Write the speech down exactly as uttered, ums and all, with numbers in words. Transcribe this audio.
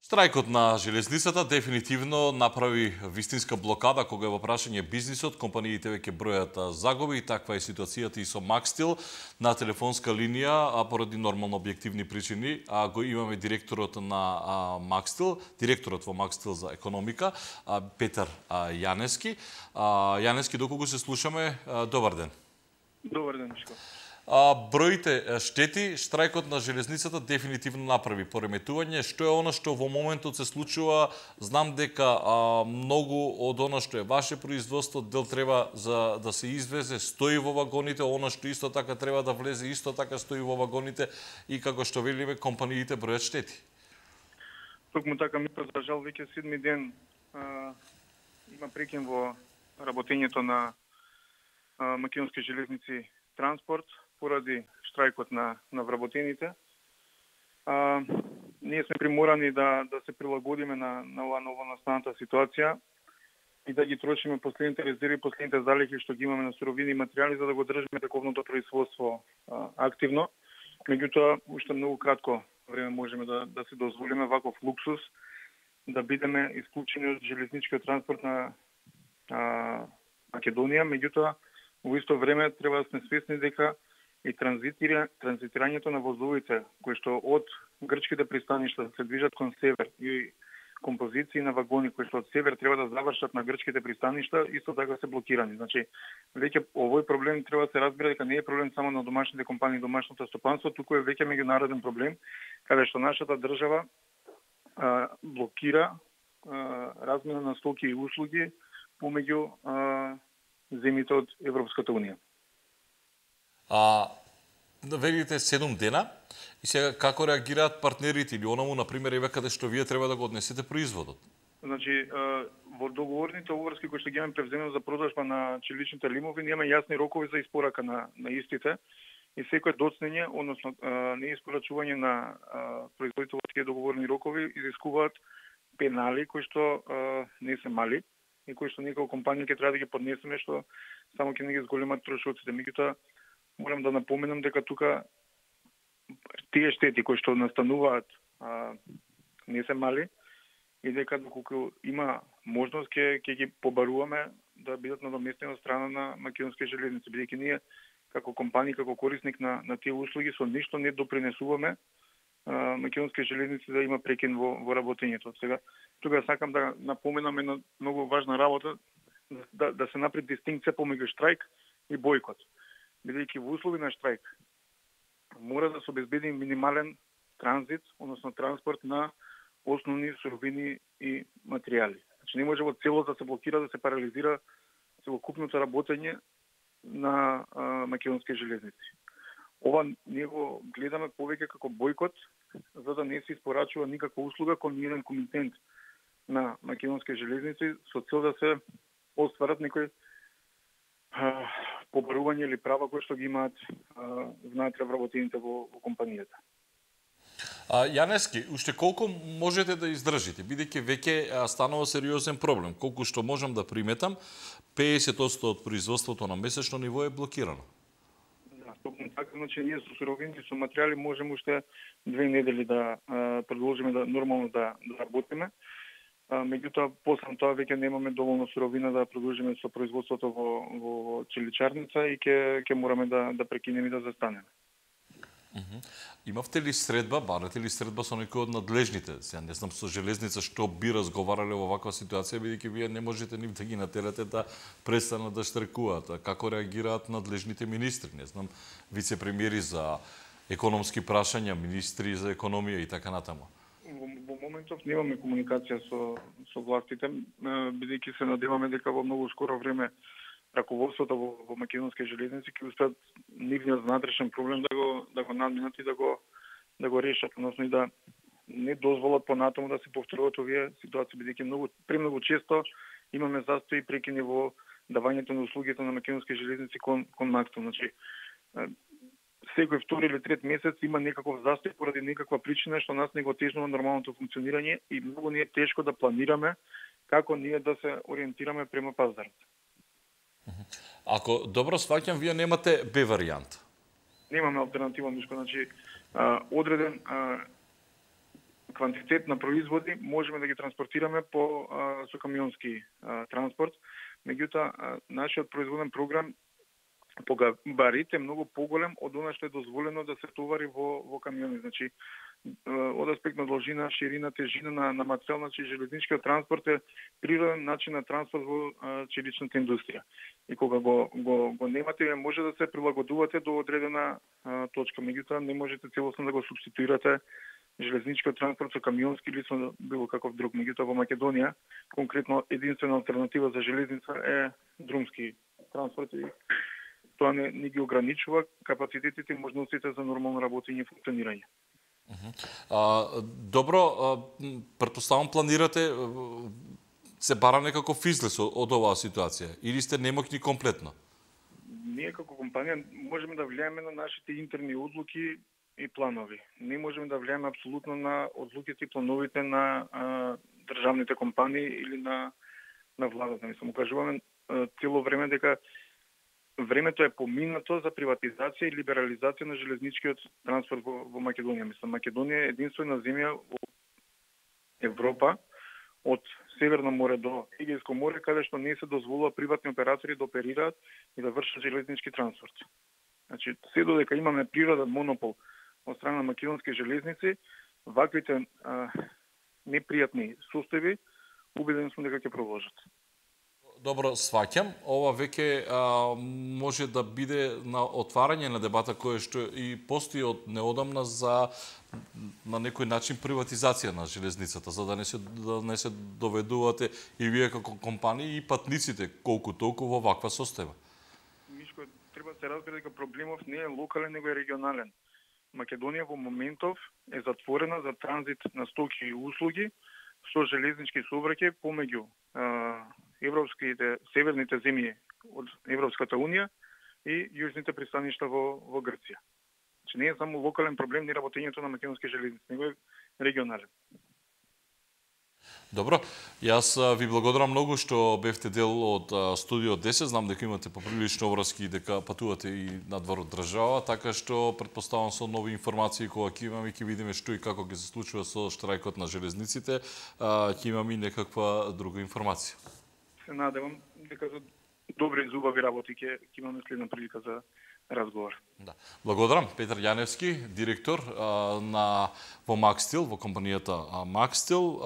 Штрајкот на железницата дефинитивно направи вистинска блокада кога е во прашање бизнисот, компаниите веќе бројат загуби и таква е ситуацијата и со Макстил на телефонска линија, а поради нормално објективни причини, а го имаме директорот на Макстил, директорот во Макстил за економика, Петар Јанески. Јанески, доколку се слушаме, добар ден. Добар ден, Мишко. А, броите штети, штрајкот на железницата дефинитивно направи пореметување. Што е оно што во моментот се случува? Знам дека а, многу од оно што е ваше производство, дел треба за да се извезе, стои во вагоните, оно што исто така треба да влезе, исто така стои во вагоните и како што велиме, компаниите бројат штети. Токму така, ми за жал веќе седми ден а, има прекин во работењето на а, македонски железници транспорт поради штрајкот на, на вработените. А, ние сме приморани да, да се прилагодиме на, на ова ново настаната ситуација и да ги трошиме последните резерви, последните залихи што ги имаме на суровини и материјали за да го држиме таковното производство а, активно. Меѓутоа, уште многу кратко време можеме да, да се дозволиме ваков луксус, да бидеме исклучени од железничкиот транспорт на а, Македонија. Меѓутоа, во исто време треба да сме свесни дека и транзитира, транзитирањето на возовите кои што од грчките пристаништа се движат кон север и композиции на вагони кои што од север треба да завршат на грчките пристаништа, исто така се блокирани. Значи, веќе овој проблем треба да се разбере дека не е проблем само на домашните компании, домашното стопанство, туку е веќе меѓународен проблем, каде што нашата држава а, блокира а, размена на стоки и услуги помеѓу а, земите од Европската унија. А, велите седум дена и сега како реагираат партнерите или онаму, например, еве каде што вие треба да го однесете производот? Значи, во договорните обврски кои што ги имаме превземено за продажба на челичните лимови, ние имаме јасни рокови за испорака на, на истите и секој доцнење, односно неиспорачување на производите во тие договорни рокови изискуваат пенали кои што не се мали и кои што ние како компанија ќе треба да ги поднесеме, што само ќе не ги зголемат трошоците. Меѓутоа, морам да напоменам дека тука тие штети кои што настануваат а, не се мали и дека доколку има можност ќе ќе ги побаруваме да бидат надоместени од страна на македонски железници, бидејќи ние како компанија, како корисник на на тие услуги со ништо не допринесуваме а, македонски железници да има прекин во во работењето. Сега тука сакам да напоменам една многу важна работа, да да се направи дистинкција помеѓу штрајк и бојкот. Бидејќи во услови на штрајк мора да се обезбеди минимален транзит, односно транспорт на основни суровини и материјали. Значи не може во целост да се блокира, да се парализира целокупното работење на а, македонски железници. Ова ние го гледаме повеќе како бојкот, за да не се испорачува никаква услуга кон ниеден комитент на македонски железници со цел да се остварат некои побарување или права кои што ги имаат внатре вработените во, во компанијата. А, Јанески, уште колку можете да издржите, бидејќи веќе станува сериозен проблем? Колку што можам да приметам, педесет одсто од производството на месечно ниво е блокирано. Да, токму така, значи ние со суровини, со материјали можеме уште две недели да а, продолжиме да нормално да, да работиме. Меѓутоа, после тоа веќе немаме доволно суровина да продолжиме со производството во, во, во челичарница и ќе ќе мораме да да прекинеме и да застанеме. Uh -huh. Имавте ли средба, барате ли средба со некој од надлежните? Сега не знам со железница што би разговарале во ваква ситуација, бидејќи вие не можете нив да ги натерате да престанат да штрекуваат. Како реагираат надлежните министри? Не знам, вице-премиери за економски прашања, министри за економија и така натаму. Во, во моментов немаме комуникација со со властите, бидејќи се надеваме дека во многу скоро време раководството во, во македонски железници ќе успеат нивниот внатрешен проблем да го да го надминат и да го да го решат, односно и да не дозволат понатаму да се повторуваат овие ситуации, бидејќи многу премногу често имаме застои и прекини во давањето на услугите на македонски железници кон кон Макстил. Значи секој втори или трет месец има некаков застој поради некаква причина што нас не го тежнува нормалното функционирање и многу ни е тешко да планираме како ние да се ориентираме према пазарот. Ако добро сваќам, вие немате Б варијанта. Немаме алтернатива, Мишко. Значи, а, одреден а, квантитет на производи можеме да ги транспортираме по а, со камионски а, транспорт. Меѓутоа, нашиот производен програм по габарит е многу поголем од она што е дозволено да се товари во во камиони. Значи, од аспект на должина, ширина, тежина на, на материјал, значи железничкиот транспорт е природен начин на транспорт во а, челичната индустрија. И кога го го го немате, може да се прилагодувате до одредена а, точка. Меѓутоа, не можете целосно да го субституирате железничкиот транспорт со камионски или со било каков друг. Меѓутоа, во Македонија конкретно единствена алтернатива за железница е друмски транспорт и тоа не, не ги ограничува капацитетите и можностите за нормално работење и функционирање. А, добро, а, претпоставам планирате се бара некаков излез од оваа ситуација или сте немокни комплетно? Ние како компанија можеме да влијаеме на нашите интерни одлуки и планови. Не можеме да влијаеме апсолутно на одлуките и плановите на а, државните компании или на на владата. Мислам, кажуваме цело време дека времето е поминато за приватизација и либерализација на железничкиот транспорт во, во Македонија. Мислам, Македонија е единствена земја во Европа од Северно море до Егејско море, каде што не се дозволува приватни оператори да оперираат и да вршат железнички транспорт. Значи, се додека имаме природен монопол од страна на македонски железници, ваквите а, непријатни состојби, убеден сум дека ќе продолжат. Добро, сваќам. Ова веќе а, може да биде на отварање на дебата која што и постои од неодамна за на некој начин приватизација на железницата, за да не се да не се доведувате и вие како компании и патниците колку толку во ваква состојба. Мишко, треба да се разбере дека проблемов не е локален, него е регионален. Македонија во моментов е затворена за транзит на стоки и услуги со железнички сообраќај помеѓу европските северните земји од Европската унија и јужните пристаништа во во Грција. Значи не е само локален проблем ни работењето на македонски железници, него е регионален. Добро, јас ви благодарам многу што бевте дел од Студио десет. Знам дека имате поприлично обврски и дека патувате и надвор од држава, така што претпоставам со нови информации кога ќе имаме, ќе видиме што и како ќе се случува со штрајкот на железниците, ќе имаме и некаква друга информација. Се надевам дека за добри и зубави работи ќе имаме следна прилика за разговор. Да. Благодарам. Петар Јаневски, директор а, на во Макстил, во компанијата Макстил.